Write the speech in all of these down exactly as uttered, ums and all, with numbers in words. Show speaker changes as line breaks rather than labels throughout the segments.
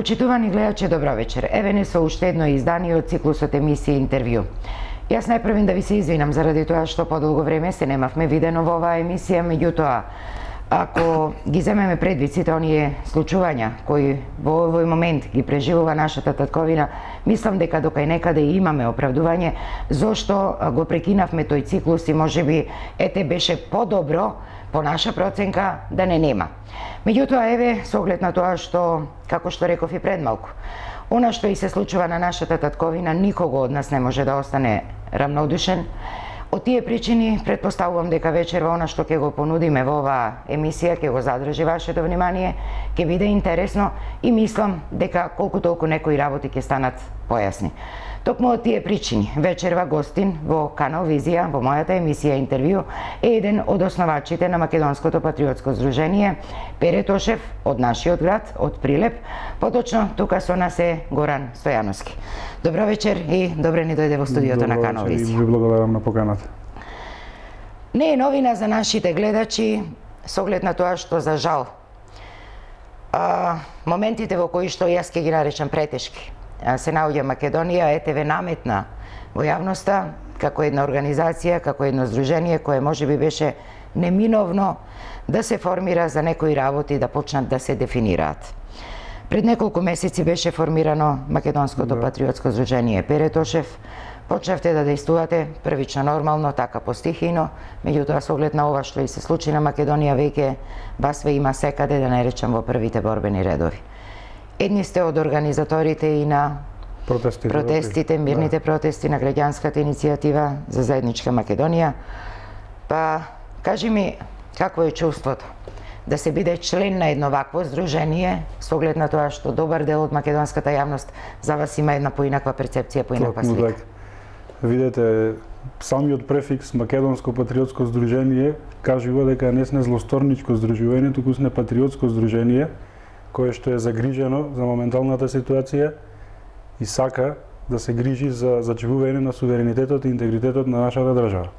Почитувани гледачи, добро вечер. Еве не со уште едно издание од циклусот емисија интервју. Јас најпрвен да ви се извинам заради тоа што подолго време се немавме видено во оваа емисија, меѓутоа ако ги земеме предвид сите оние случувања кои во овој момент ги преживува нашата татковина, мислам дека докај некаде имаме оправдување зошто го прекинавме тој циклус и можеби ете беше подобро по наша проценка да не нема. Меѓутоа еве со оглед на тоа што, како што реков и пред малку, она што и се случува на нашата татковина никого од нас не може да остане равнодушен. Од тие причини претпоставувам дека вечерва она што ќе го понудиме во оваа емисија ќе го задржи вашето внимание, ќе биде интересно и мислам дека колку толку некои работи ќе станат појасни. Токму од тие причини, вечерва гостин во Канал Визија, во мојата емисија интервју, е еден од основачите на Македонското патриотско здружение, Пере Тошев, од нашиот град, од Прилеп, поточно тука со нас е Горан Стојановски. Добро вечер и добре ни дојде во студиото на Канал Визија.
Добро вечер и ви благодарам на поканата.
Не е новина за нашите гледачи, со оглед на тоа што за жал а, моментите во кои што јас ќе ги наречам претешки се наоѓа Македонија, ЕТВ наметна во јавноста како една организација, како едно здружение кое можеби беше неминовно да се формира за некои работи да почнат да се дефинираат. Пред неколку месеци беше формирано Македонското да. патриотско здружение Пере Тошев. Почнавте да дејствувате првично нормално, така постихино, меѓутоа со оглед на ова што и се случи на Македонија веќе вас ве има секаде, да не речам во првите борбени редови. Едни сте од организаторите и на
протестите,
протестите мирните да. протести на граѓанската иницијатива за заедничка Македонија. Па, кажи ми, какво е чувството да се биде член на едно вакво здружение, со оглед на тоа што добар дел од македонската јавност за вас има една поинаква перцепција, поинаква слика?
Видете, самиот префикс Македонско патриотско здружение кажува дека не сме злосторничко здружување, туку сме патриотско здружение, кое што е загрижено за моменталната ситуација и сака да се грижи за зачувување на суверенитетот и интегритетот на нашата држава.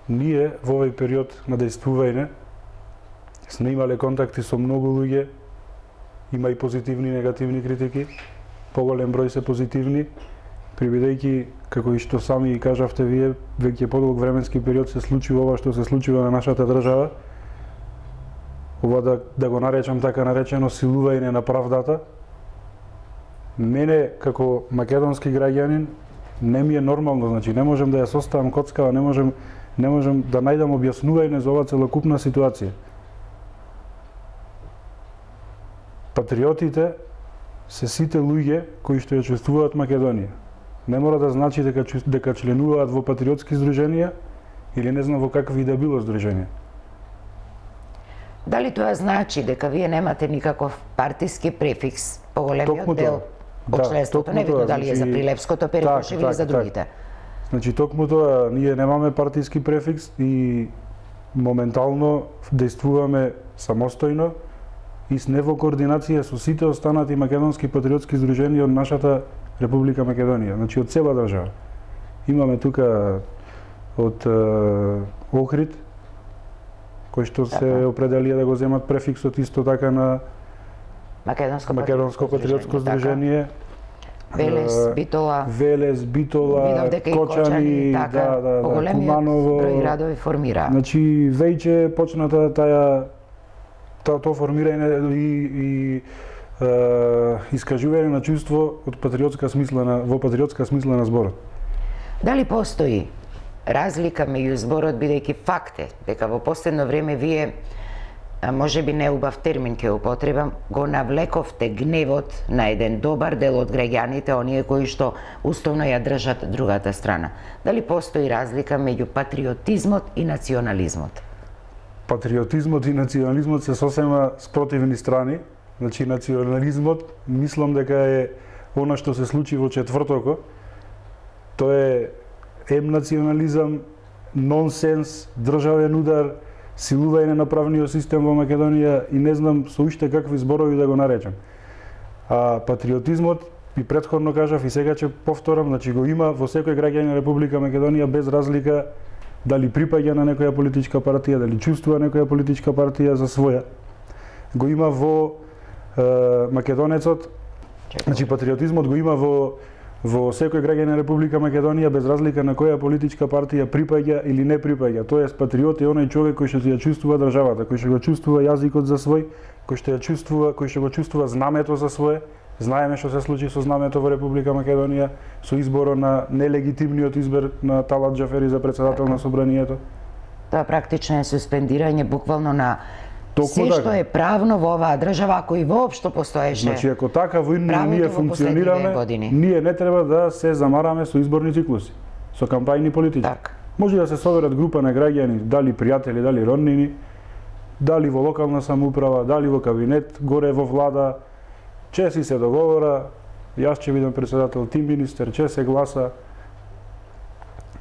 Ние во овој период на дејствување сме имале контакти со многу луѓе, има и позитивни и негативни критики, поголем број се позитивни, прибидејќи, како и што сами и кажавте вие, веќе подолг временски период се случи ова што се случува на нашата држава, ова да, да го наречам така наречено силување на правдата. Мене, како македонски граѓанин, не ми е нормално, значи не можем да ја составам коцкава, не можем, не можем да најдам објаснување за оваа целокупна ситуација. Патриотите се сите луѓе кои што ја чувствуваат Македонија. Не мора да значи дека, дека членуваат во патриотски здруженија или не знам во какви да било здруженија.
Дали тоа значи дека вие немате никаков партиски префикс, поголемиот дел од членството, не видно дали е за Прилепското, Пере Тошев или за другите?
Значи, токму тоа, ние немаме партиски префикс и моментално дејствуваме самостојно и сме во координација со сите останати македонски патриотски здруженија од нашата Република Македонија, значи од цела држава. Имаме тука од е, Охрид, кои што се определија да го земат префиксот исто така на
Македонско,
Македонско патриотско здружение.
Велес, Битола,
Велес, Битола, Кочани,
така,
да, да, да, Куманово.
Број радови формира.
Значи веќе почната таја тоа тоа формирање и, и е, искажување на чувство од патриотска смисла на во патриотска смисла на зборот.
Дали постои разлика меѓу зборот, бидејќи факт е дека во последно време вие, може би неубав термин ќе употребам, го навлековте гневот на еден добар дел од граѓаните, оние кои што уставно ја држат другата страна. Дали постои разлика меѓу патриотизмот и национализмот?
Патриотизмот и национализмот се сосема спротивни страни. Значи, национализмот, мислам дека е она што се случи во четвртокот. Тоа е ем национализам, нонсенс, државен удар, силување на правниот систем во Македонија и не знам со уште какви зборови да го наречам. А патриотизмот, и претходно кажав и сега ќе повторам, значи го има во секој граѓанин на Република Македонија без разлика дали припаѓа на некоја политичка партија, дали чувствува некоја политичка партија за своја. Го има во македонецот, значи патриотизмот го има во во секој граѓанин на Република Македонија без разлика на која политичка партија припаѓа или не припаѓа. Тоест патриот е оној човек кој што ја чувствува државата, кој што го чувствува јазикот за свој, кој што ја чувствува, кој што го чувствува знамето за свое. Знаеме што се случи со знамето во Република Македонија, со изборот на нелегитимниот избор на Талат Џафери за председател на собранието.
Тоа практично е суспендирање буквално на
Токму
се
така.
што е правно во оваа држава, ако и воопшто постоеше.
Значи, ако така во ние
правото во
функционираме,
години.
ние не треба да се замараме со изборни циклуси, со кампајни политики.
Так.
Може да се соберат група на граѓани, дали пријатели, дали роднини, дали во локална самоуправа, дали во кабинет, горе во влада, че си се договора, јас ќе бидам председател, ти министер, че се гласа.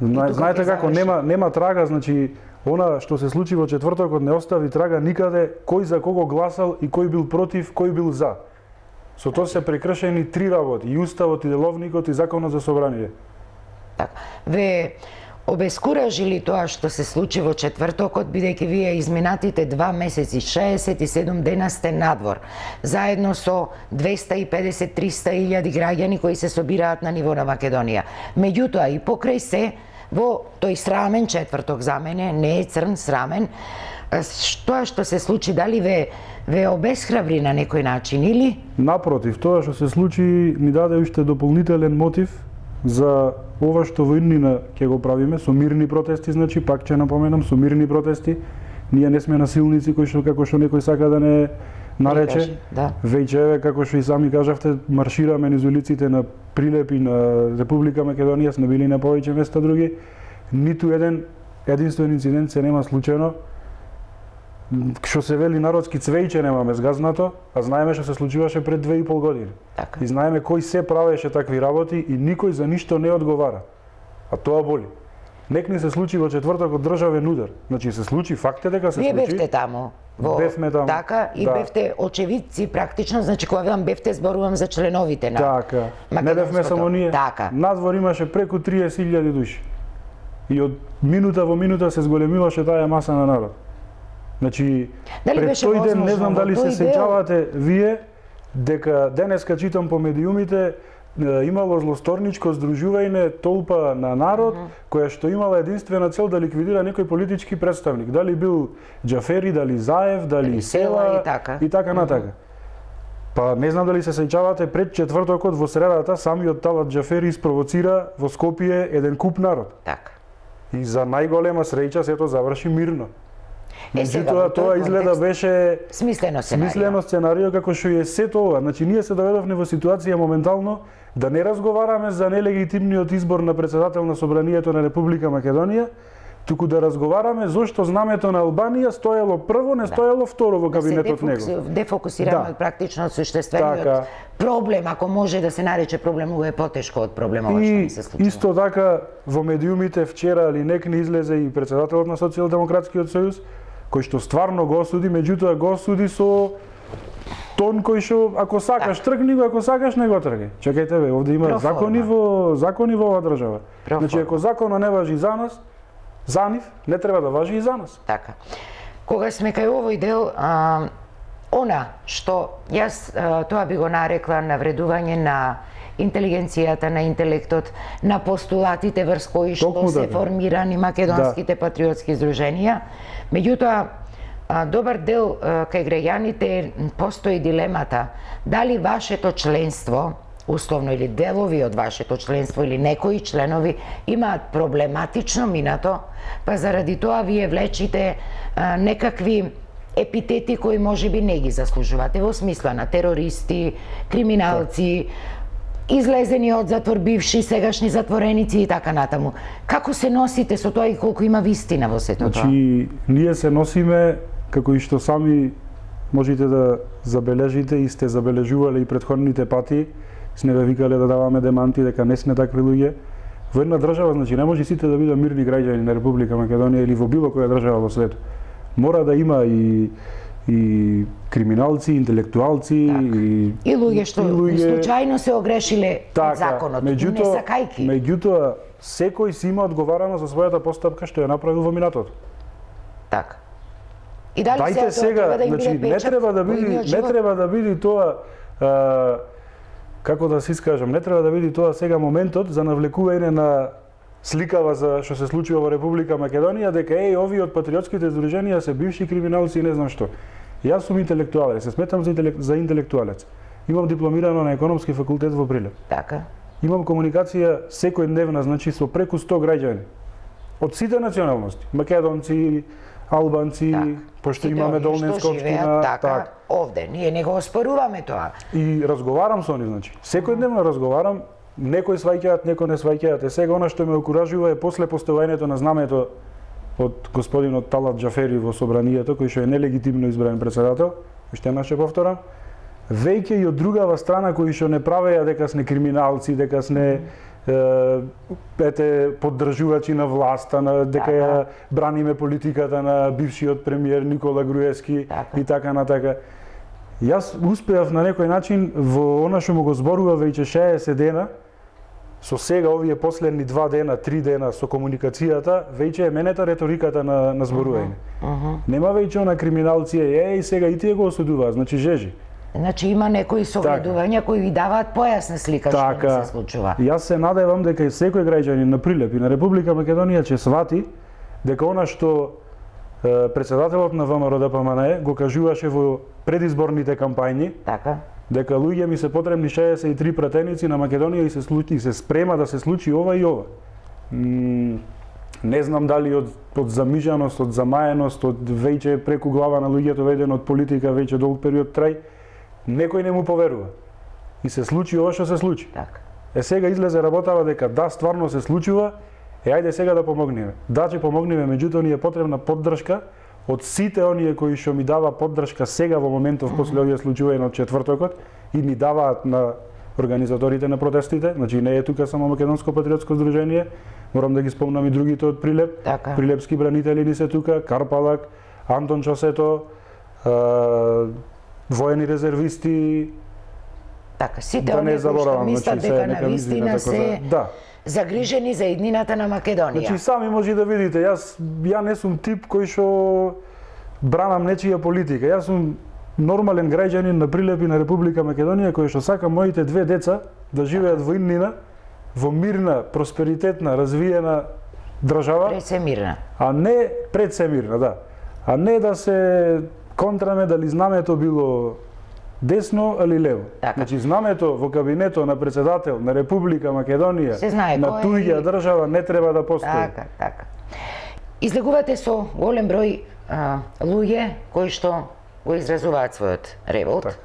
Знаете како, нема, нема трага, значи, она што се случи во четвртокот не остави трага никаде кој за кого гласал и кој бил против, кој бил за. Со тоа се прекршени три работи, и уставот, и деловникот, и законот за собрание.
Так. Ве обескуражи ли тоа што се случи во четвртокот, бидејќи вие изминатите два месеци, шеесет и седум дена сте надвор, заедно со двеста и педесет до триста илјади граѓани кои се собираат на ниво на Македонија. Меѓутоа и покрај се, во тој срамен четврток за мене, не е црн, срамен, тоа што се случи, дали ве, ве обесхрабри на некој начин или?
Напротив, тоа што се случи ни даде уште дополнителен мотив за ова што во иднина ќе го правиме, со мирни протести, значи, пак ќе напоменам, со мирни протести. Ние не сме насилници кои што, како што некој сака да не нарече.
Да.
Веќе еве, како што и сами кажавте, маршираме низ улиците на Прилеп и на Република Македонија, сме били на повеќе места други. Ниту еден единствен инцидент се нема случено. Што се вели народски, цвејче немаме згазнато, а знаеме што се случуваше пред две и пол години.
Така.
И знаеме кој се правеше такви работи и никој за ништо не одговара. А тоа боли. Нек ни се случи во четвртокот државен удар. Значи се случи, факт е дека се
Вие
случи.
бевте таму. Во...
Бевме таму.
Така, и
да.
бевте очевидци практично, значи кога велам бевте, зборувам за членовите на
Така. Не бевме само ние.
Така.
Надвор имаше преку триесет илјади души. И од минута во минута се зголемиваше таа маса на народ. Значи,
дали
пред тој ден, не знам дали се сеќавате вие, дека денеска читам по медиумите, имало злосторничко здружување толпа на народ, mm -hmm. која што имала единствена цел да ликвидира некој политички представник. Дали бил Џафери, дали Заев, дали, дали Села,
и така,
и така натака. Mm -hmm. Па не знам дали се сеќавате, пред четвртокот во средата самиот Талат Џафери испровоцира во Скопје еден куп народ.
Така.
И за најголема среќа сето заврши мирно. Меѓутоа, тоа изгледа беше
смислено сценарио.
Смислено сценарио како што е сето ова. Значи ние се доведовме во ситуација моментално да не разговараме за нелегитимниот избор на председател на собранието на Република Македонија, туку да разговараме зошто знамето на Албанија стоело прво, не стоело второ во кабинетот него.
Да се дефокусираме
Да.
од практично од суштествениот
Така.
проблем, ако може да се нарече проблем, го е потешко од проблемот што ни се случува.
И исто така во медиумите вчера или некни излезе и председателот на Социјалдемократскиот сојуз, кој што стварно го осуди, меѓутоа го осуди со тон кој што ако сакаш тргни го, ако сакаш не го тргај. Чекајте бе, овде има
Проформа.
закони во закони во оваа држава.
Проформа.
Значи ако законот не важи за нас, за нив не треба да важи и за нас.
Така. Кога сме кај овој дел, а, она што јас а, тоа би го нарекла навредување на интелигенцијата, на интелектот, на постулатите врз кои што
Токму
се
така.
формирани македонските да. патриотски здруженија. Меѓутоа, а, добар дел а, кај граѓаните постои дилемата дали вашето членство, условно или делови од вашето членство или некои членови имаат проблематично минато, па заради тоа вие влечите а, некакви епитети кои можеби не ги заслужувате, во смисла на терористи, криминалци, излезени од затвор бивши, сегашни затвореници и така натаму. Како се носите со тоа и колку има вистина во сето тоа?
Значи, ние се носиме како и што сами можете да забележите и сте забележувале и претходните пати, сме ве викале да даваме деманти дека не сме такви луѓе. Во една држава, значи, не може сите да бидат мирни граѓани на Република Македонија или во било која држава во светот. Мора да има и и криминалци, интелектуалци
так.
и
и луѓе што
и луѓе...
случајно се огрешиле
така,
од законот, не сакајки.
Меѓутоа, секој си има одговарано за својата постапка што ја направил во минатото.
Така. И дали
Дајте сега,
треба да им
значи,
биде
не
печат
треба да
во
биде,
идниот
не
живот?
треба да биде тоа а, како да се искажам, не треба да биде тоа сега моментот за навлекување на сликава за што се случува во Република Македонија, дека еј овие од патриотските здруженија се бивши криминалци и не знам што. Јас сум интелектуалец, се сметам за, интелек, за интелектуалец. Имам дипломирано на економски факултет во Прилеп.
Така.
Имам комуникација секојдневна, значи со преку сто граѓани од сите националности, македонци, албанци,
Так.
пошто
Сите
имаме
оние
долненска
што живеат
општина,
така,
так.
овде. Ние не го оспоруваме тоа.
И разговарам со нив, значи. Секојдневно разговарам, некои сваќаат, некои не сваќаат. Е сега она што ме окуражува е после поставувањето на знамето од господинот Талат Џафери во собранието, кој што е нелегитимно избран председател, уште еднаш ќе повторам, веќе и од другава страна кои што не правеа дека сме криминалци, дека сме е, ете поддржувачи на власта, на дека ја браниме политиката на бившиот премиер Никола Груевски
Така.
и така натака. Јас успеав на некој начин во она што му го зборува веќе шеесет дена, со сега овие последни два дена, три дена со комуникацијата, веќе е менета реториката на, на зборување.
Uh -huh.
Нема веќе она криминалци, еј сега и тие го осудуваат, значи жежи.
Значи има некои согледувања кои ви даваат појасна слика што
Така,
не се случува.
Јас се надевам дека и секој граѓанин на Прилеп и на Република Македонија ќе свати дека она што е, председателот на ВМРО-ДПМНЕ го кажуваше во предизборните кампањи,
Така.
дека луѓе ми се потребни шеесет и три пратеници на Македонија и се случи и се спрема да се случи ова и ова. М, не знам дали од од замижаност, од замаеност, од веќе преку глава на луѓето ведено од политика веќе долг период трај, некој не му поверува. И се случи ова што се случи.
Така.
Е сега излезе работава дека да, стварно се случува, е ајде сега да помогнеме. Да, ќе помогнеме, меѓутоа ни е потребна поддршка од сите оние кои што ми дава поддршка сега во моментов после овие случувања од четвртокот и ми даваат на организаторите на протестите, значи не е тука само Македонско патриотско здружение, морам да ги спомнам и другите од Прилеп,
Така.
Прилепски бранители ни се тука, Карпалак, Антон Чосето, е, воени резервисти,
Така, сите
да
оние
не
кои што
заборавам,
мислат
значи, се
дека
нека
на
извина,
вистина
така
се
да. Да.
загрижени за иднината на Македонија.
Значи сами може да видите, јас ја не сум тип кој што бранам нечија политика. Јас сум нормален граѓанин на Прилеп и на Република Македонија кој што сака моите две деца да живеат во иднина, во мирна, просперитетна, развиена држава,
Пред се мирна.
а не пред се мирна, да. А не да се контраме дали знамето било десно или лево.
Така.
Значи знамето во кабинетот на председател на Република Македонија
Се знае
на
кој е
туѓа
и-
држава не треба да постои.
Така, така. Излегувате со голем број а, луѓе кои што го изразуваат својот револт.
Така.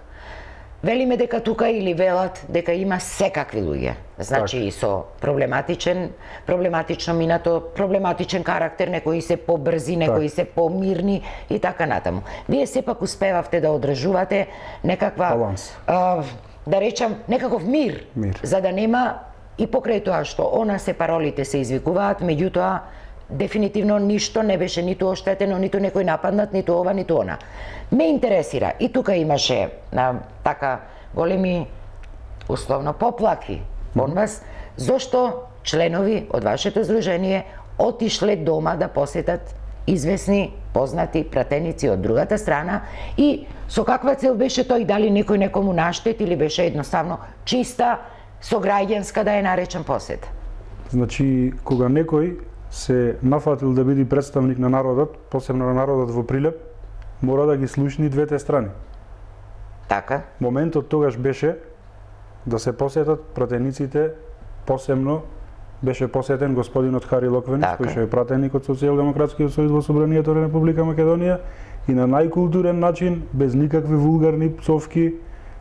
Велиме дека тука или велат дека има секакви луѓе. Значи и со проблематичен, проблематично минато, проблематичен карактер, некои се побрзи, некои се помирни и така натаму. Вие сепак успевавте да одржувате некаква
Баланс.
а, да речам некаков мир,
Мир.
за да нема и покрај тоа што она се паролите се извикуваат, меѓутоа дефинитивно ништо не беше ниту оштетено, ниту некој нападнат, ниту ова, ниту она. Ме интересира, и тука имаше а, така големи условно поплаки од вас, зошто членови од вашето здружение отишле дома да посетат известни познати пратеници од другата страна и со каква цел беше тој, дали некој некому наштет или беше едноставно чиста сограѓанска, да ја наречам, посета?
Значи, кога некој се нафатил да биде представник на народот, посебно на народот во Прилеп, мора да ги слушни двете страни.
Така?
Моментот тогаш беше да се посетат пратениците, посебно беше посетен господинот Хари Локвенец,
Така.
кој што е пратеник од Социјалдемократскиот сојуз во собранието на Република Македонија и на најкултурен начин, без никакви вулгарни псовки,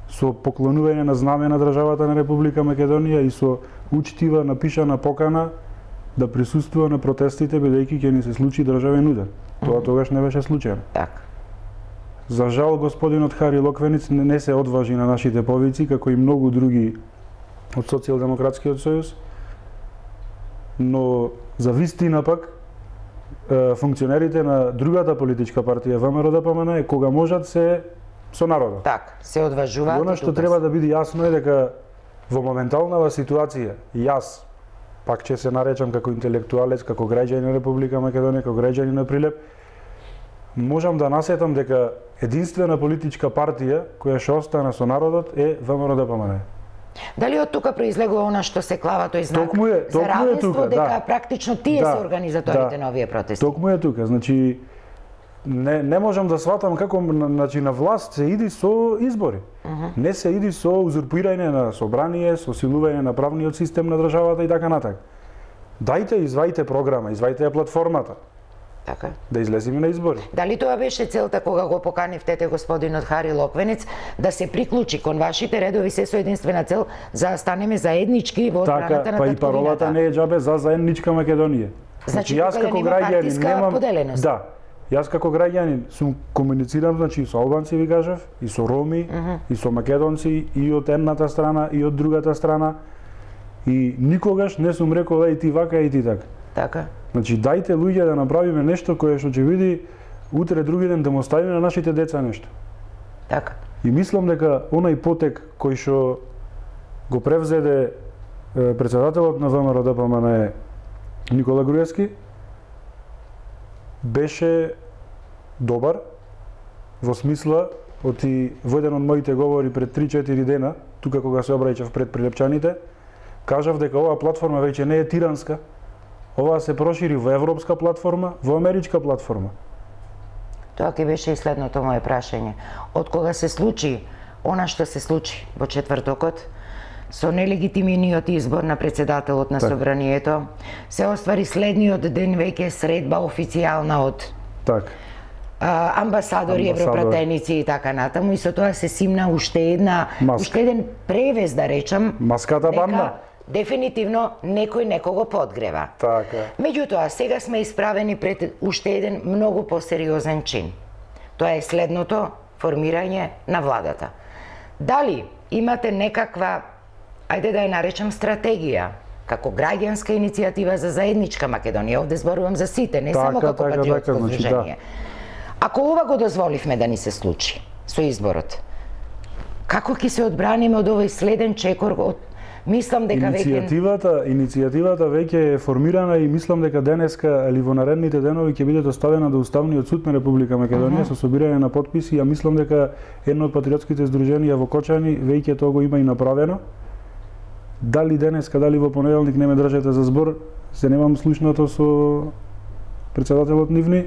со поклонување на знаме на државата на Република Македонија и со учтива напишана покана да присуствува на протестите бидејќи ќе ни се случи државен удар. Тоа тогаш не беше случајно.
Така.
За жал, господинот Хари Локвенец не, не се одважи на нашите повици, како и многу други од Социјалдемократскиот сојуз, но за вистина пак е, функционерите на другата политичка партија ВМРО-ДПМН кога можат се со народот.
Така, се
И
одважуваат.
она
и
што
тука
треба
се.
да биде јасно е дека во моменталнава ситуација јас пак ќе се наречам како интелектуалец, како граѓанин на Република Македонија, како граѓанин на Прилеп, можам да насетам дека единствена политичка партија која ќе остане со народот е ВМРО-ДПМНЕ.
Дали од тука произлегува она што се клава тој знак
Токму е,
за
токму е
равенство,
тука,
дека
да.
практично тие
Да,
се организаторите
да.
на овие протести?
Токму е тука, значи не не можам да сватам како на- значи на власт се иди со избори. Не се иди со узурпирање на собрание, со силување на правниот систем на државата и така натак. Дајте, извајте програма, извајте ја платформата,
Така.
да излеземе на избори.
Дали тоа беше целта кога го поканивте господинот Хари Локвенец да се приклучи кон вашите редови се со единствена цел за да станеме заеднички во одбраната
Така,
на
па и
татковината?
паролата не е џабе за заедничка Македонија.
Значи, тука да нема партиска поделеност.
Да. Јас како граѓанин сум комуницирам значи со албанци ви кажав, и со роми, и со македонци, и од едната страна, и од другата страна. И никогаш не сум рекол еј ти вака, еј ти така.
Така.
Значи дајте луѓе да направиме нешто кое што ќе види утре други ден да му оставиме на нашите деца нешто.
Така.
И мислам дека онај потек кој што го превзеде е, председателот на ВМРО-ДПМНЕ Никола Груевски беше добар во смисла оти во еден од моите говори пред три-четири дена, тука кога се обраќав пред прилепчаните, кажав дека оваа платформа веќе не е тиранска. Ова се прошири во европска платформа, во америчка платформа.
Тоа ќе беше и следното моje прашање. Од кога се случи она што се случи во четвртокот, со нелегитимниот избор на председателот на
Так.
собранието, се оствари следниот ден веќе средба официјална од
Так.
а, амбасадори,
Амбасадор.
европратеници и така натаму, и со тоа се симна уште една,
Маска.
уште еден превез, да речам,
Маската банда.
дефинитивно некој некого подгрева.
Така.
Меѓутоа, сега сме исправени пред уште еден многу посериозен чин. Тоа е следното формирање на владата. Дали имате некаква, ајде да ја наречам стратегија, како граѓанска иницијатива за заедничка Македонија, овде зборувам за сите, не
Така,
само како
така,
патриотско
така, значи,
движење. Ако ова го дозволивме да ни се случи со изборот, како ќе се одбраниме од овој следен чекор од мислам дека веќе
Иницијативата, иницијативата веќе е формирана и мислам дека денеска или во наредните денови ќе биде доставена до Уставниот суд на Република Македонија uh -huh. со собирање на потписи. Ја мислам дека едно од патриотските здруженија во Кочани веќе тоа го има и направено. Дали денеска, дали во понеделник не ме држете за збор, се немам слушнато со председателот нивни,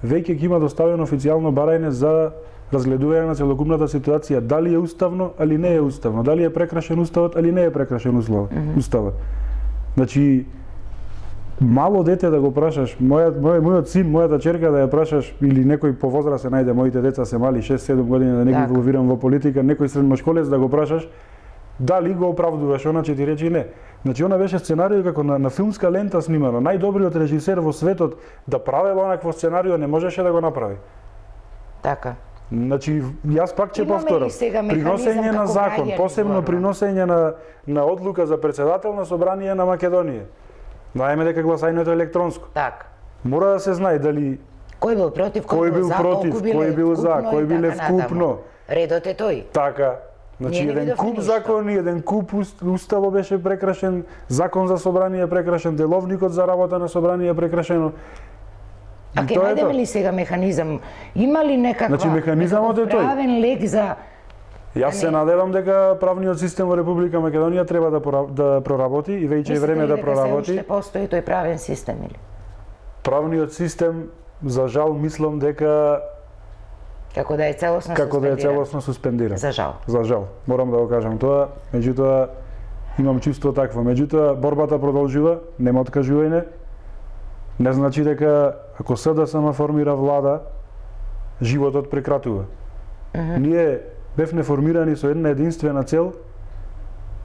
веќе ќе има доставено официјално барање за разгледување на целокупната ситуација, дали е уставно, али не е уставно, дали е прекрашен уставот, али не е прекрашен услов, mm -hmm. уставот. Значи, мало дете да го прашаш, мојот мој, мојот син, мојата ќерка да ја прашаш или некој по возраст се најде, моите деца се мали шест-седум години да не ги
Така.
инволвирам во политика, некој средношколец да го прашаш, дали го оправдуваш, она ќе ти рече не. Значи, она беше сценарио како на, на филмска лента снимано. Најдобриот режисер во светот да правела онакво сценарио не можеше да го направи.
така.
Значи, јас пак ќе
Имаме
повторам.
ли сега механизам
Приносење на
како
закон,
граѓани
посебно
зборувам?
приносење на, на одлука за председател на собрание на Македонија. Знаеме дека гласањето е електронско.
Така.
Мора да се знае дали
Кој бил против, кој,
кој бил
за,
против,
колку биле
кој бил за,
вкупно
кој
и
биле
така натаму.
вкупно.
Редот е тој.
Така. Значи,
Ние не
еден
видовме
куп
ништо.
закони, еден куп уст- уставо беше прекрашен, закон за собрание е прекрашен, деловникот за работа на собрание е прекрашено.
А
И
ќе
тоа е
најдеме
тоа.
ли сега механизам? Има ли некаква
Значи, механизамот е
некаков
тој.
правен лек за
Јас се надевам дека правниот систем во Република Македонија треба да пора- да проработи и веќе е
мислите
време
ли
да
дека се
проработи.
уште постои тој правен систем или?
Правниот систем, за жал, мислам дека
Како да е целосно
како да е
суспендиран?
целосно суспендиран.
За жал.
За жал, морам да го кажам тоа, меѓутоа имам чувство такво. Меѓутоа борбата продолжува, нема откажување. Не значи дека ако СДСМ формира влада, животот прекратува.
Mm -hmm.
Ние бевме формирани со една единствена цел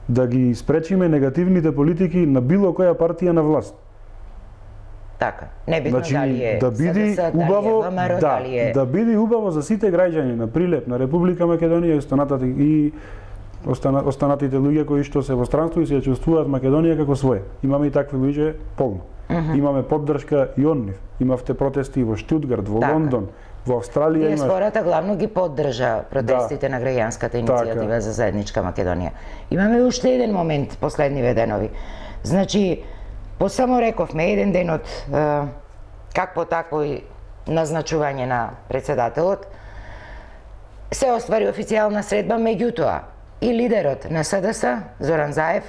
да ги спречиме негативните политики на било која партија на власт.
Така. Небитно
Значи,
дали е
да биде
СДС,
убаво,
дали е ВМРО,
да,
дали е...
да биде убаво за сите граѓани на Прилеп, на Република Македонија и останатите и остана, останатите луѓе кои што се во странство и се чувствуваат Македонија како своја. Имаме и такви луѓе полно.
Mm -hmm.
Имаме поддршка и од нив. Имавте протести во Штутгарт, во
Така.
Лондон, во Австралија имаш.
Диаспората главно ги поддржа протестите
Да.
на граѓанската иницијатива
Така.
за заедничка Македонија. Имаме уште еден момент последниве денови. Значи, по само рековме еден ден од е, какво такво и назначување на председателот, се оствари официјална средба, меѓутоа и лидерот на С Д С, Зоран Заев,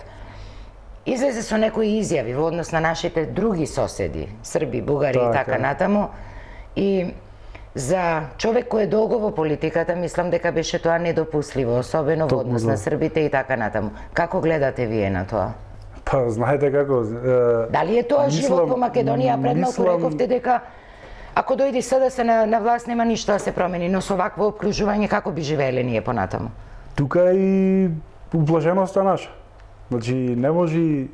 излезе со некои изјави во однос на нашите други соседи, Срби, Бугари и така натаму, и за човек кој е долго во политиката, мислам дека беше тоа недопустливо, особено во однос на србите и така натаму. Како гледате вие на тоа?
Па, знаете како... Е,
Дали е тоа мислам, живот по Македонија? Пред малку мислам... рековте дека ако дојде С Д С на, на власт нема ништо да се промени, но со вакво обкружување како би живееле ние понатаму?
Тука е и уплашеноста наша. Значи, не може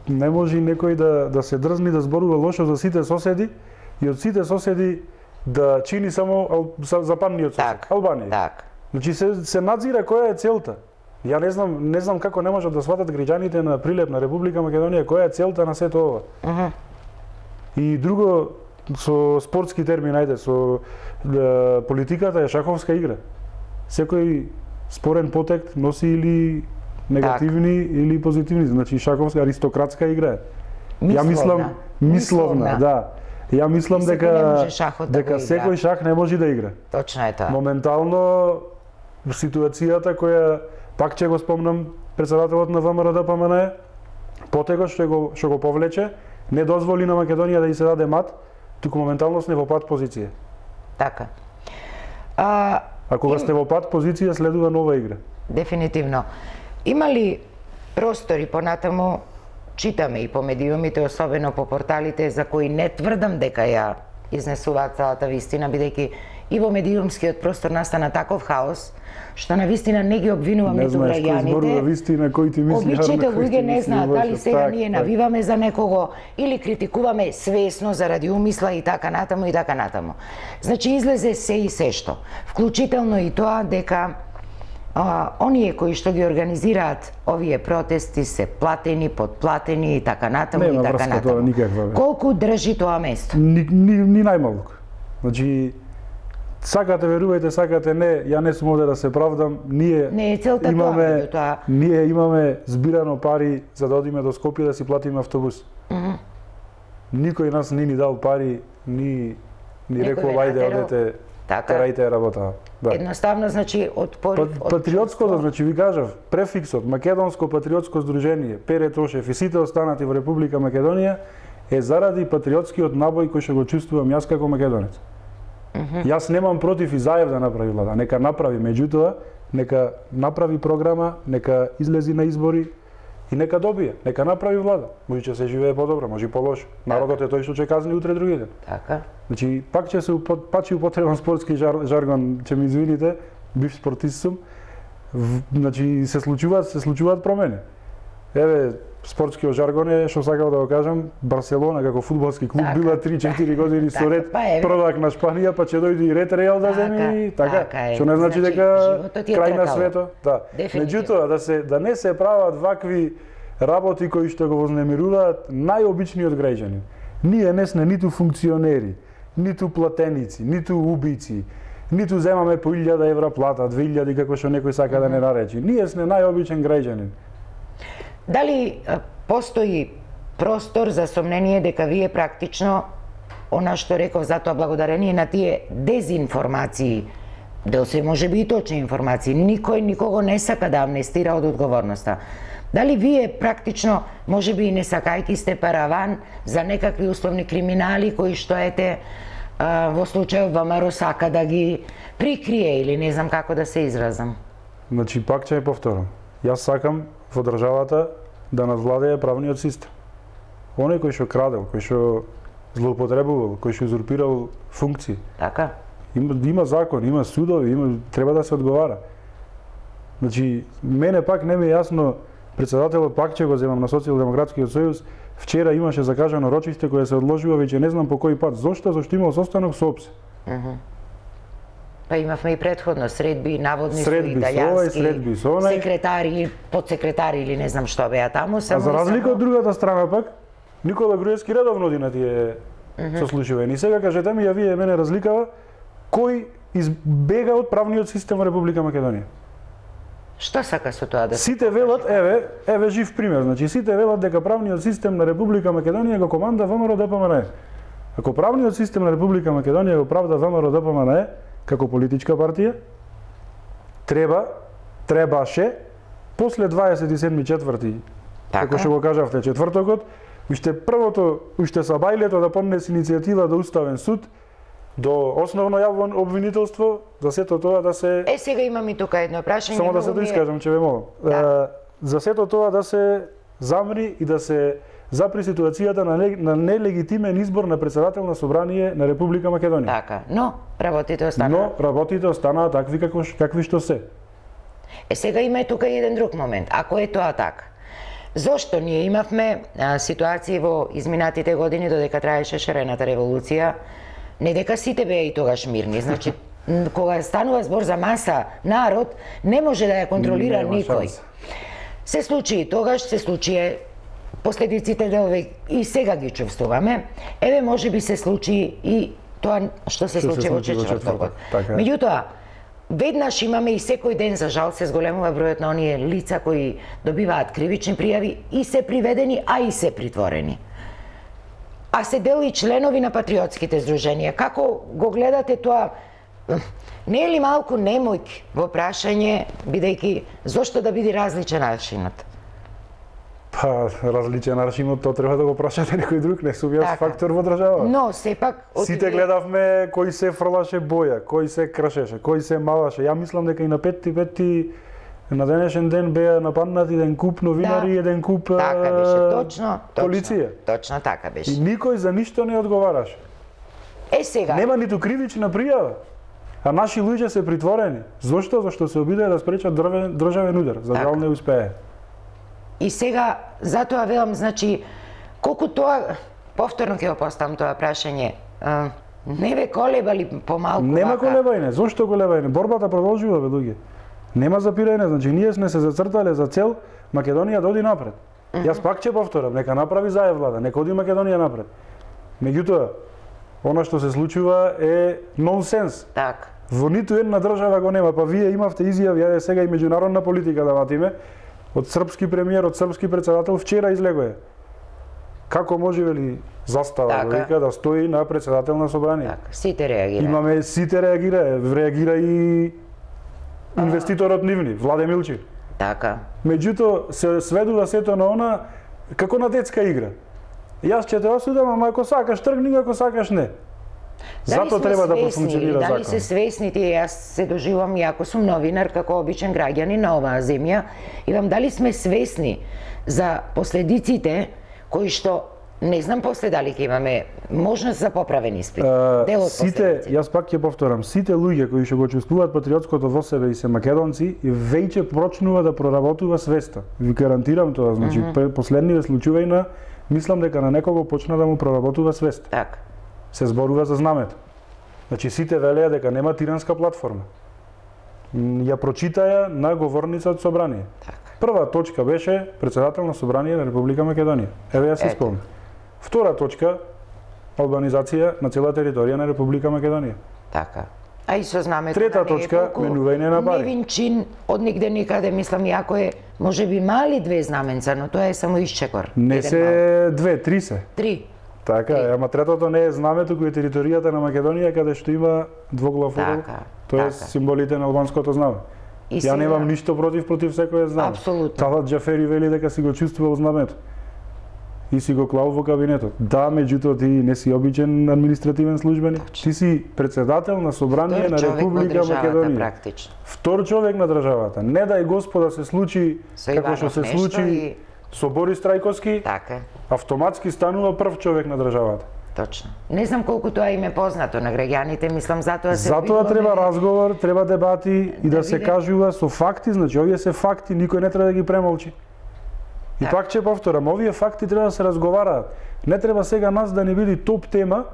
не може некој да, да се дрзни да зборува лошо за сите соседи и од сите соседи да чини само ал, западниот сосед,
так,
Албанија.
Так.
Значи се, се надзира која е целта. Ја не знам, не знам како не можат да сватат граѓаните на Прилеп на Република Македонија која е целта на сето ова. Uh -huh. И друго, со спортски термин, ајде, со е, политиката е шаховска игра. Секој спорен потек носи или негативни так. или позитивни, значи шаховска аристократска игра.
Мисловна.
Ја мислам мисловна, мисловна. да. Ја мислам и дека дека да секој шах не може да игра.
Точно е тоа.
Моментално ситуацијата која пак ќе го спомнам, председателот на ВМРО Д П М Н, потегот што го што го повлече, не дозволи на Македонија да ја се даде мат, туку моментално сме во пат позиција.
Така. А,
а кога им... сте во пат позиција следува нова игра.
Дефинитивно. Има ли простори понатаму, читаме и по медиумите, особено по порталите, за кои не тврдам дека ја изнесуваат целата вистина, бидејќи и во медиумскиот простор настана таков хаос, што на вистина не ги обвинувам ниту граѓаните.
Вистина кој ти мисли,
обичните луѓе не знаат дали сега так, ние навиваме за некого или критикуваме свесно заради умисла и така натаму и така натаму. Значи излезе се и се што, вклучително и тоа дека а, оние кои што ги организираат овие протести се платени, подплатени и така натаму и така натаму. Колку држи тоа место?
Ни, ни, ни најмалку. Значи сакате верувајте, сакате не, ја не сум овде да се правдам, ние
не е целта
имаме
тоа,
ние имаме збирано пари за да одиме до Скопје да си платиме автобус. Mm -hmm. Никој нас не ни дал пари, ни ни рекол ајде одете, терајте работа.
Да. Едноставно значи од порив
од патриотското, значи ви кажав, префиксот Македонско патриотско здружение, Пере Тошев и сите останати во Република Македонија е заради патриотскиот набој кој што го чувствувам јас како македонец. Mm -hmm. Јас немам против и Заев да направи влада, нека направи, меѓутоа, нека направи програма, нека излези на избори и нека добие, нека направи влада. Може ќе се живее подобро, може и полошо. Народот е тој што ќе казни утре другите.
Така.
Значи, пак ќе се пак ќе употребам спортски жар, жаргон, ќе ми извините, бив спортист сум. Значи се случуваат, се случуваат промени. Еве, спортскиот жаргон е, што сакав да го кажам, Барселона како фудбалски клуб така, била три-четири години со ред првак на Шпанија, па ќе дојде и ред Реал да земи, така, што не значи дека крај на светот. Да. Меѓутоа, да се да не се прават вакви работи кои што го вознемируваат најобичниот граѓанин. Ние не сме ниту функционери, ниту платеници, ниту убици, ниту земаме по илјада евра плата, две илјади како што некој сака да не наречи. Ние сме најобичен граѓанин.
Дали постои простор за сомнение дека вие практично, она што реков, затоа благодарение на тие дезинформации, дел се може би и точни информации, никој никого не сака да амнестира од одговорноста. Дали вие практично, може би и не сакајки сте параван за некакви условни криминали кои што ете во случајот ВМРО сака да ги прикрие или не знам како да се изразам?
Значи, пак ќе ја повторам. Јас сакам во државата да надвладее правниот систем. Оној кој што крадел, кој што злоупотребувал, кој што узурпирал функции.
Така.
Има, има закон, има судови, има, треба да се одговара. Значи, мене пак не ми е јасно, председателот пак ќе го земам на Социјалдемократскиот сојуз, вчера имаше закажано рочиште кое се одложува, веќе не знам по кој пат. Зошто? Зошто имал состанок со ОПСЕ.
Uh -huh. Па имавме и предходно средби, наводни
средби, со овај, средби со онај,
секретари, подсекретари или не знам што беа таму.
А за разлика од другата страна пак, Никола Груевски редовно оди на тие uh -huh. сослушувања. И сега кажете ми, ја вие мене разликава, кој избега од правниот систем во Република Македонија?
Што сака со тоа да
сите велат, еве, еве жив пример, значи сите велат дека правниот систем на Република Македонија го команда ВМРО Д П М Н. Ако правниот систем на Република Македонија го правда ВМРО Д П М Н Е како политичка партија, треба, требаше, после дваесет и седми четврти, како што го кажавте, четвртокот, уште првото, уште са бајлето да поднесе иницијатива до Уставен суд, до основно јавно обвинителство, за сето тоа да се...
Е, сега имам и тука едно прашање.
Само да се доискажам, че ве молам.
Да.
За сето тоа да се замри и да се запри ситуацијата на, не, на нелегитимен избор на председател на Собрание на Република Македонија.
Така, но работите останаа.
Но работите останаа такви како какви што се.
Е, сега има и тука еден друг момент. Ако е тоа така, зошто ние имавме а, ситуации во изминатите години додека траеше шарената револуција, не дека сите беа и тогаш мирни, значи кога станува збор за маса народ, не може да ја контролира никој. Шанс. Се случи и тогаш, се случи последиците делове и сега ги чувствуваме. Еве може би се случи и тоа што се случи во четвртокот.
Така.
Меѓутоа, веднаш имаме и секој ден, за жал, се зголемува бројот на оние лица кои добиваат кривични пријави и се приведени, а и се притворени. А се дел и членови на патриотските здруженија. Како го гледате тоа? Не е ли малку немојк во прашање, бидејќи зошто да биде различен аршинот?
Па, различен аршинот, тоа треба да го прашате некој друг, не сум јас фактор во држава.
Но, сепак...
Сите гледавме кој се фрлаше боја, кој се кршеше, кој се малаше. Ја мислам дека и на петти петти на денешен ден беа нападнати еден куп новинари и еден куп
така беше, точно,
полиција.
Точно така беше.
И никој за ништо не одговараше.
Е, сега...
Нема ниту кривична пријава. А наши луѓе се притворени. Зошто? Зашто се обидеа да спречат државен удар. За жал не успее.
И сега, затоа велам, значи, колку тоа, повторно ќе го поставам тоа прашање, а, не ве колебали помалку
Нема
вака?
колебање. Зошто колебање? Борбата продолжува, бе, луѓе. Нема запирање, значи ние сме се зацртале за цел Македонија да оди напред. Uh -huh. Јас пак ќе повторам, нека направи зај влада, нека оди Македонија напред. Меѓутоа, она што се случува е нонсенс.
Так.
Во ниту една држава го нема, па вие имавте изјави, ја сега и меѓународна политика да ватиме, од српски премиер, од српски председател, вчера излегоја. Како може ли застава
така.
вика да стои на председател на собрание?
Така, сите реагира.
Имаме сите реагира, реагира и инвеститорот нивни, Владе Милчи.
Така.
Меѓутоа се сведува сето на она како на детска игра. Јас ќе те осудам, ама ако сакаш тргни, ако сакаш не. Зато треба да профункционира закон.
Дали се свесни тие, јас се доживам и ако сум новинар како обичен граѓанин на оваа земја, и вам дали сме свесни за последиците кои што не знам после дали ќе имаме можност за поправен испит.
Uh,
Дел од
сите, јас пак ќе повторам, сите луѓе кои што го чувствуваат патриотското во себе и се македонци, веќе почнува да проработува свеста. Ви гарантирам тоа, значи mm -hmm. последниве случаи на мислам дека на некого почна да му проработува свест.
Така.
Се зборува за знамето. Значи сите велеа дека нема тиранска платформа. Ја прочитаја на говорница од собрание.
Така.
Прва точка беше председател на собрание на Република Македонија. Еве ја се спомнам. Втора точка албанизација на цела територија на Република Македонија.
Така. А и со знамето.
Трета точка менување на бари.
Невин чин од нигде никаде, мислам, иако е можеби мали две знаменца, но тоа е само исчекор.
Не се две, три се.
Три.
Така,
Три.
ама третото не е знамето кој е територијата на Македонија каде што има двоглав орел.
Така.
Тоа е
така.
символите на албанското знаме.
И
Ја
сега...
немам ништо против против секој знаме.
Апсолутно.
Талат Џафери вели дека си го чувствувал знамето. И си го клал во кабинетот. Да, меѓутоа ти не си обичен административен службеник. Ти си председател на собрание на Република Македонија.
Практично.
Втор човек на државата. Не дај Господа се случи како што се случи
и...
со Борис Трајковски.
Така.
Автоматски станува прв човек на државата.
Точно. Не знам колку тоа им е познато на граѓаните, мислам затоа се
Затоа
обидуваме...
треба разговор, треба дебати и да, да се кажува со факти, значи овие се факти, никој не треба да ги премолчи. И
така.
пак ќе повторам, овие факти треба да се разговараат. Не треба сега нас да не биде топ тема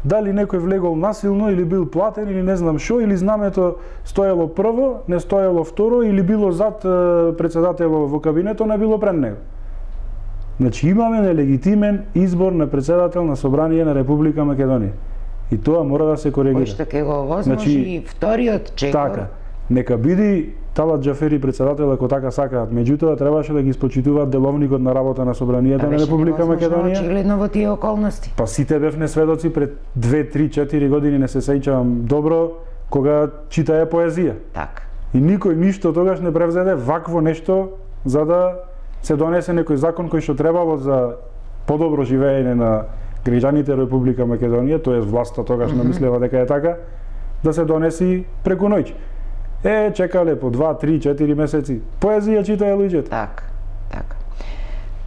дали некој влегол насилно или бил платен или не знам што, или знамето стоело прво, не стоело второ или било зад председателот во кабинетот, не било пред него. Значи имаме нелегитимен избор на председател на собрание на Република Македонија. И тоа мора да се коригира.
Кој што ќе го овозможи
значи,
и вториот чекор.
Така. Нека биде Талат Џафери председател ако така сакаат, меѓутоа требаше да ги испочитуваат деловникот на работа на Собранието на Република Македонија.
Очигледно во тие околности.
Па сите бевме сведоци пред две, три, четири години, не се сеќавам добро, кога читае поезија.
Така.
И никој ништо тогаш не превзеде вакво нешто за да се донесе некој закон кој што требало за подобро живеење на граѓаните Република Македонија, тоест власта тогаш mm-hmm. намислева дека е така, да се донеси преку ноќ. Е, чекале по два, три, четири месеци. Поезија читае луѓето.
Така, така.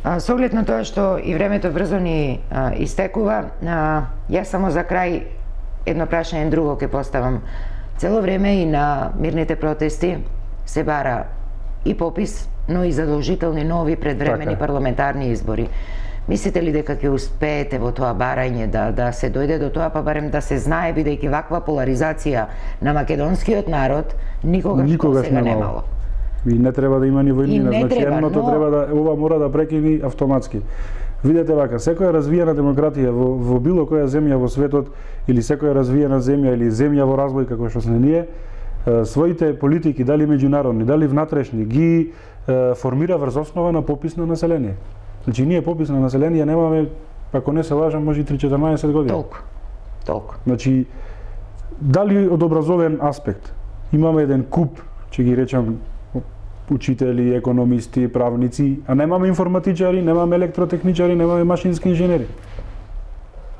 А, со оглед на тоа што и времето брзо ни а, истекува, а, јас само за крај едно прашање друго ќе поставам. Цело време и на мирните протести се бара и попис, но и задолжителни нови предвремени
така.
парламентарни избори. Мислите ли дека ќе успеете во тоа барање да да се дојде до тоа, па барем да се знае, бидејќи ваква поларизација на македонскиот народ никогаш,
никогаш
сега немало.
И не треба да има ни војнина, значи
треба,
едното
но...
треба да ова мора да прекини автоматски. Видете вака, секоја развиена демократија во, во било која земја во светот или секоја развиена земја или земја во развој како што сме ние, своите политики, дали меѓународни, дали внатрешни, ги е, формира врз основа на попис на население. Значи ние попис на население немаме, ако не се лажам, може и три-четрнаесет години.
Толку. Толку.
Значи дали од образовен аспект имаме еден куп, ќе ги речам, учители, економисти, правници, а немаме информатичари, немаме електротехничари, немаме машински инженери.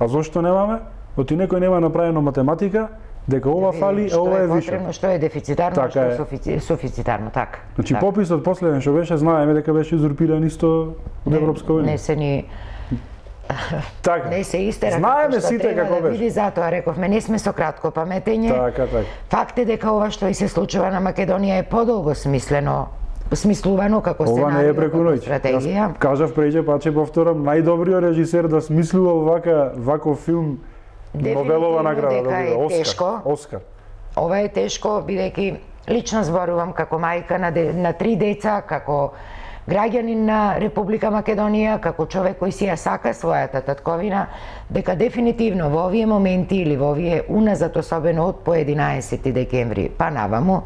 А зошто немаме? Оти некој нема направено математика, дека ова фали, а ова е више.
Потребно, што е дефицитарно,
така
што е
е
суфици, суфицитарно, така.
Значи
така.
пописот последен што беше, знаеме дека беше узурпиран исто од Европска унија.
Не се ни
така.
Не се истера.
Знаеме сите како
да
беше.
Види, затоа рековме, не сме со кратко паметење.
Така, така.
Факт е дека ова што и се случува на Македонија е подолго смислено, смислувано како сценарио,
ова не е преку ноќ.
стратегија.
Јас кажав преќе, па ќе повторам, најдобриот режисер да смислува вака ваков филм, Нобелова награда
дека е
добива,
тешко.
Оскар. Оскар.
Ова е тешко, бидејќи лично зборувам како мајка на, де, на три деца, како граѓанин на Република Македонија, како човек кој си ја сака својата татковина, дека дефинитивно во овие моменти или во овие уназад, особено од по единаесети декември па наваму,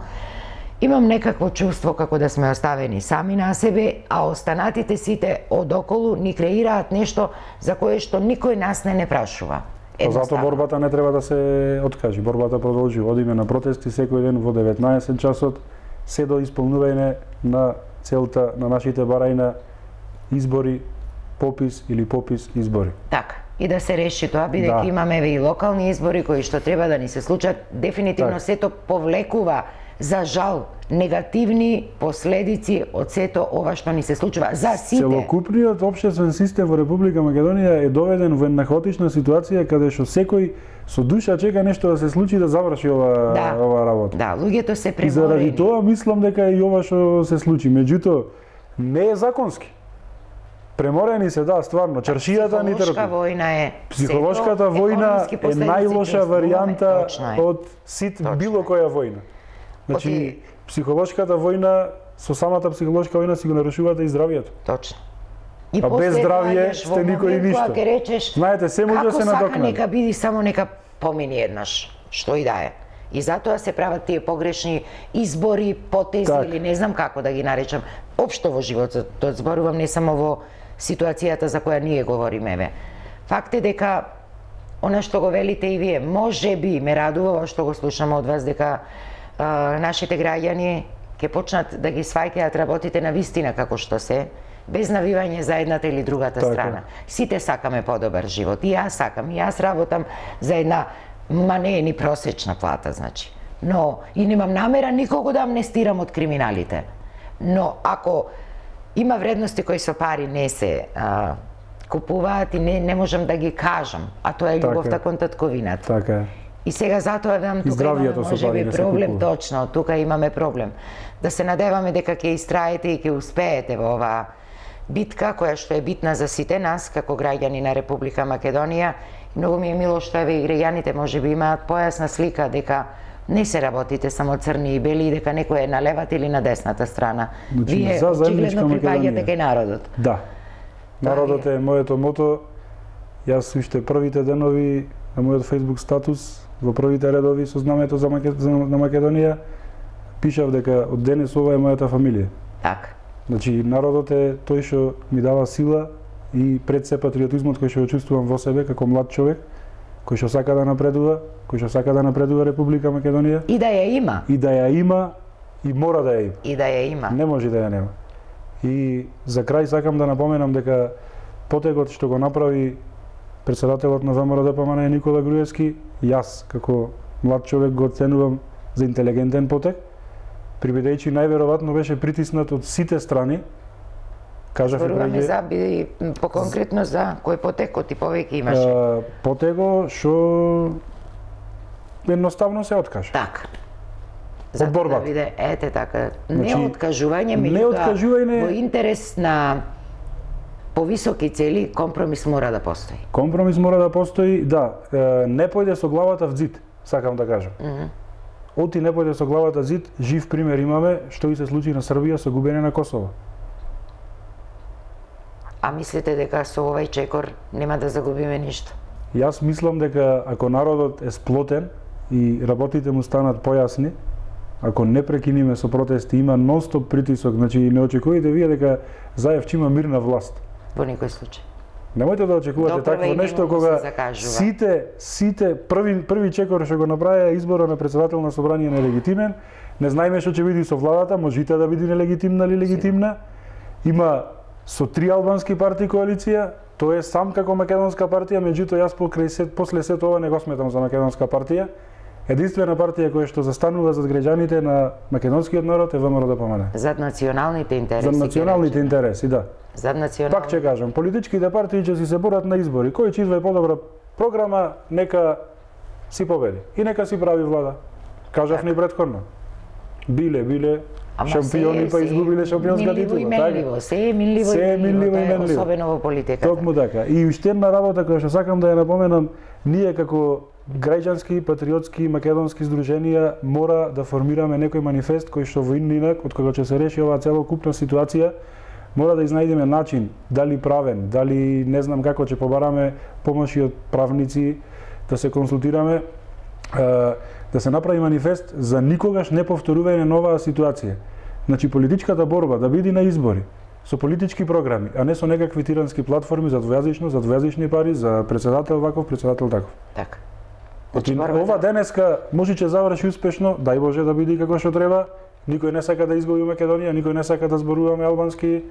имам некакво чувство како да сме оставени сами на себе, а останатите сите одоколу ни креираат нешто за кое што никој нас не не прашува.
Па затоа борбата не треба да се откажи, борбата продолжи. Одиме на протести секој ден во деветнаесет часот, се до исполнување на целта на нашите барања избори, попис или попис избори.
Така, и да се реши тоа, бидејќи
да.
имаме и локални избори кои што треба да ни се случат, дефинитивно так. Сето повлекува, за жал, негативни последици од сето ова што ни се случува за сите.
Целокупниот општествен систем во Република Македонија е доведен во една хаотична ситуација каде што секој со душа чека нешто да се случи да заврши ова
да.
ова работа.
Да, луѓето се преморени.
И заради тоа мислам дека и ова што се случи, меѓутоа не е законски. Преморени се, да, стварно, чаршијата ни трпи.
Психолошка војна е.
Психолошката војна е најлоша варијанта од сит било која војна. Значи, Оти... психолошката војна, со самата психолошка војна си го нарушувате и здравието.
Точно.
И а без здравје сте никој ништо.
Речеш,
знаете, се може да се надокнади. Како сака
нека биди, само нека помини еднаш, што и да е. И затоа се прават тие погрешни избори, потези так. Или не знам како да ги наречам. Општо во животот, тоа зборувам не само во ситуацијата за која ние говориме. Еве. Факт е дека она што го велите и вие, може би ме радува што го слушаме од вас, дека а, нашите граѓани ќе почнат да ги сваќаат работите на вистина како што се, без навивање за едната или другата така. Страна. Сите сакаме подобар живот. И јас сакам, и јас работам за една, ма не е ни просечна плата, значи. Но, и немам намера никого да амнестирам од криминалите. Но, ако има вредности кои со пари не се а, купуваат и не, не можам да ги кажам, а тоа е љубовта така. Кон татковината.
Така е.
И сега затоа дам тука имаме можеби проблем, точно, тука имаме проблем. Да се надеваме дека ќе истраете и ќе успеете во оваа битка која што е битна за сите нас како граѓани на Република Македонија. Многу ми е мило што еве и граѓаните можеби имаат појасна слика дека не се работите само црни и бели, дека некој е на левата или на десната страна.
Значи,
вие очигледно припаѓате кај народот.
Да. Народот е моето мото. Јас уште првите денови на мојот Facebook статус, во првите редови со знамето за Макед... за... на Македонија, пишав дека од денес ова е мојата фамилија.
Така.
Значи, народот е тој што ми дава сила и пред се патриотизмот кој што го чувствувам во себе како млад човек, кој што сака да напредува, кој што сака да напредува Република Македонија.
И да ја има.
И да ја има и мора да ја има.
И да ја има.
Не може да ја нема. И за крај сакам да напоменам дека потегот што го направи председателот на ВМРО-ДПМН Никола Груевски, јас како млад човек го оценувам за интелигентен потег, прибедејќи најверојатно беше притиснат од сите страни. Кажав
Зборуваме за би поконкретно за кој потекот и повеќе имаше.
А, потего што едноставно се откажа.
Така.
Од борбата.
Да биде, ете така,
Значи,
не откажување,
не
меѓутоа
откажување-
во интерес на повисоки цели компромис мора да постои.
Компромис мора да постои, да, е, не појде со главата в зид, сакам да кажам.
Mm -hmm.
Оти не појде со главата зид, жив пример имаме што и се случи на Србија со губење на Косово.
А мислите дека со овај чекор нема да загубиме ништо?
Јас мислам дека ако народот е сплотен и работите му станат појасни, ако не прекиниме со протести, има нон-стоп притисок, значи не очекувате вие дека Заев ќе има мирна власт.
Во никој случај.
Немојте да очекувате
Доправа
такво
и
нешто
нему
кога
се закажува.
сите сите први први чекор што го направија избора на председател на собрание нелегитимен, не знаеме што ќе биде со владата, може и таа да биде нелегитимна или легитимна. Има со три албански партии коалиција, тој е сам како македонска партија, меѓутоа јас покрај се после сето ова не го сметам за македонска партија. Единствена партија која што застанува зад граѓаните на македонскиот народ е ВМРО-ДПМН.
Зад националните интереси.
За националните интереси, да.
Зад националните.
Пак ќе кажам, политичките партии ќе си се борат на избори. Кој ќе извади подобра програма, нека си победи. И нека си прави влада. Кажав ни претходно. Биле, биле
Ама
шампиони,
се-
па
се
изгубиле шампионска
минливо
титула.
и менливо, се е минливо
Се
и
е минливо и
менливо, тоа е
менливо.
особено во политиката.
Токму така. И уште една работа која што сакам да ја напоменам, ние како граѓански, патриотски, македонски здруженија мора да формираме некој манифест кој што во инак, од кога ќе се реши оваа целокупна ситуација, мора да изнајдеме начин, дали правен, дали не знам како ќе побараме помоши од правници, да се консултираме, е, да се направи манифест за никогаш не повторување на оваа ситуација. Значи политичката борба да биде на избори со политички програми, а не со некакви тирански платформи за двојазично, за двојазични пари, за председател ваков, председател таков.
Така.
Значи,
борбата-
ова денеска може ќе заврши успешно, дај Боже да биде како што треба. Никој не сака да изгуби Македонија, никој не сака да зборуваме албански,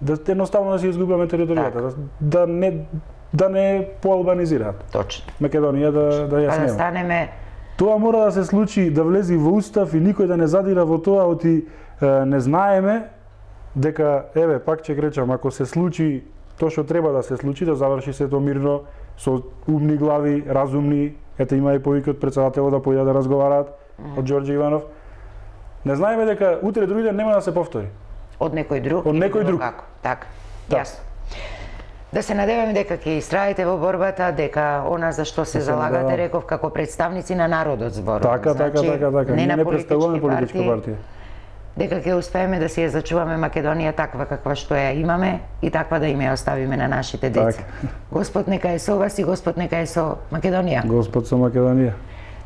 да едноставно да си изгубиме територијата,
Така.
да, да не да не поалбанизираат.
Точно.
Македонија да да ја
Па да
снема.
станеме
Тоа мора да се случи, да влези во устав и никој да не задира во тоа, оти е, не знаеме дека еве пак ќе речам, ако се случи тоа што треба да се случи, да заврши сето мирно со умни глави, разумни, ете има и повики од председателот да појдат да разговараат од Ѓорѓе Иванов. Не знаеме дека утре други ден нема да се повтори.
од некој друг.
Од
или
некој
било
друг.
Како. Така.
Да.
Јасно. Да се надеваме дека ќе истраите во борбата, дека она за што се
Да се
залагате,
надевам.
реков, како представници на народот зборувам.
Така, така,
Значи,
така, така.
Не
Ние
на
не представуваме
политички
политичка
партии,
партија.
дека ќе успееме да си ја зачуваме Македонија таква каква што ја имаме и таква да им ја оставиме на нашите деца.
Така.
Господ нека е со вас и Господ нека е со Македонија.
Господ со Македонија.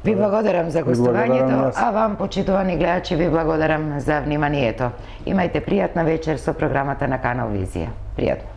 Ви благодарам за
благодарам
гостувањето,
јас.
а вам, почитувани гледачи, ви благодарам за вниманието. Имајте пријатна вечер со програмата на Канал Визија. Пријатно.